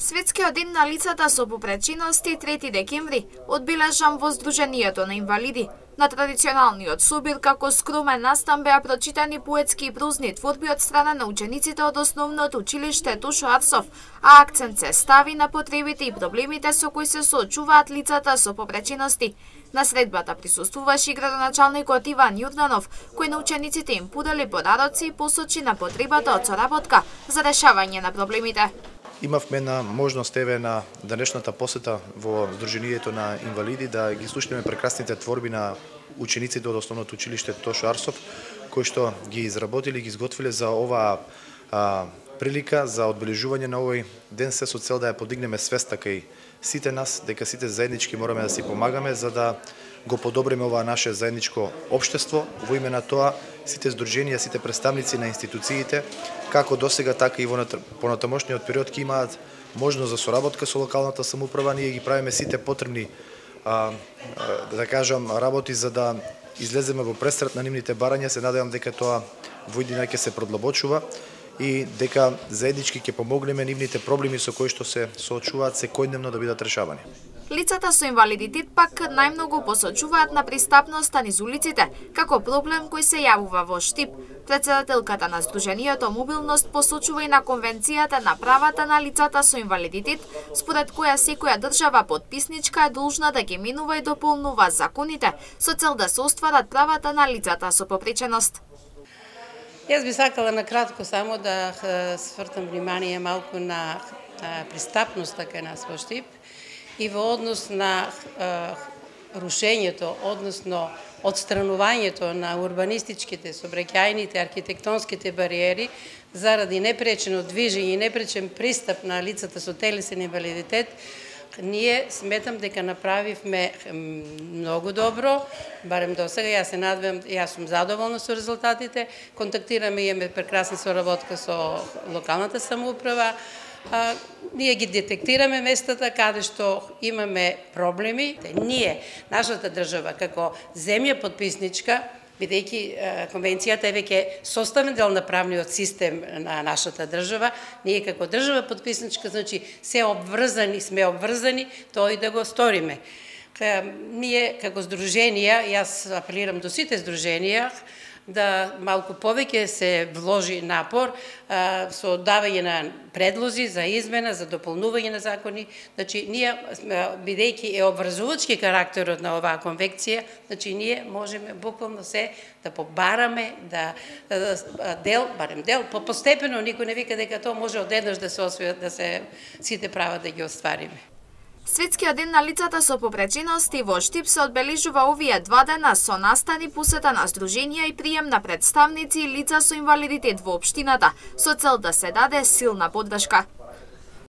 Светскиот ден на лицата со попречености 3 декември одбележан во Сдруженијето на инвалиди. На традиционалниот собир како скромен настан беа прочитани поетски и прозни творби од страна на учениците од основното училиште Тошо Арсов, а акцент се стави на потребите и проблемите со кои се соочуваат лицата со попречености. На средбата присуствуваше и градоначалникот Иван Јорданов, кој на учениците им подели подароци и посочи на потребата од соработка за решавање на проблемите. Имавме една можност на денешната посета во Сдруженијето на инвалиди да ги слушнеме прекрасните творби на учениците од основното училиште Тошо Арсов, кои што ги изработиле и ги изготвиле за оваа прилика за одбележување на овој ден, се со цел да ја подигнеме свеста кај сите нас, дека сите заеднички мораме да си помагаме за да го подобриме оваа наше заедничко општество. Во име на тоа, сите здруженија, сите представници на институциите, како досега, така и во понатамошниот период ќе имаат можност за соработка со локалната самоуправа. Ние ги правиме сите потребни, да кажам, работи за да излеземе во пресрет на нивните барања. Се надевам дека тоа во иднина ќе се продлабочува и дека заеднички ќе помогнеме нивните проблеми со кои што се соочуваат секојдневно да бидат решавани. Лицата со инвалидитет пак најмногу посочуваат на пристапноста низ улиците, како проблем кој се јавува во Штип. Председателката на Сдруженијето Мобилност посочува и на Конвенцијата на правата на лицата со инвалидитет, според која секоја држава потписничка е должна да ги менува и дополнува законите со цел да се остварат правата на лицата со попреченост. Јас би сакала на кратко само да свртам внимание малку на пристапноста кај нас во Штип и во однос на рушењето, односно отстранувањето на урбанистичките, сообраќајните, архитектонските бариери заради непречено движење и непречен пристап на лицата со телесен инвалидитет. Ние сметам дека направивме многу добро, барем до сега. Јас се надевам, јас сум задоволна со резултатите. Контактираме и имаме прекрасна соработка со локалната самоуправа. Ние ги детектираме местата каде што имаме проблеми. Ние, нашата држава, како земја подписничка, бидејќи конвенцијата е веќе составен дел на правниот систем на нашата држава, ние како држава подписничка, значи сме обврзани тоа и да го сториме. Ние како здруженија, јас апелирам до сите здруженија, да малку повеќе се вложи напор со давање на предлози за измена, за дополнување на закони. Значи, ние, бидејќи е обврзувачки карактерот на оваа конвенција, значи, ние можеме буквално се да побараме, барем дел, постепено, никој не вика дека тоа може одеднаш да се освои, да се сите права да ги оствариме. Светскиот ден на лицата со попречености во Штип се одбележува овие 2 дена со настани, посета на здруженија и прием на представници и лица со инвалидитет во општината, со цел да се даде силна поддршка.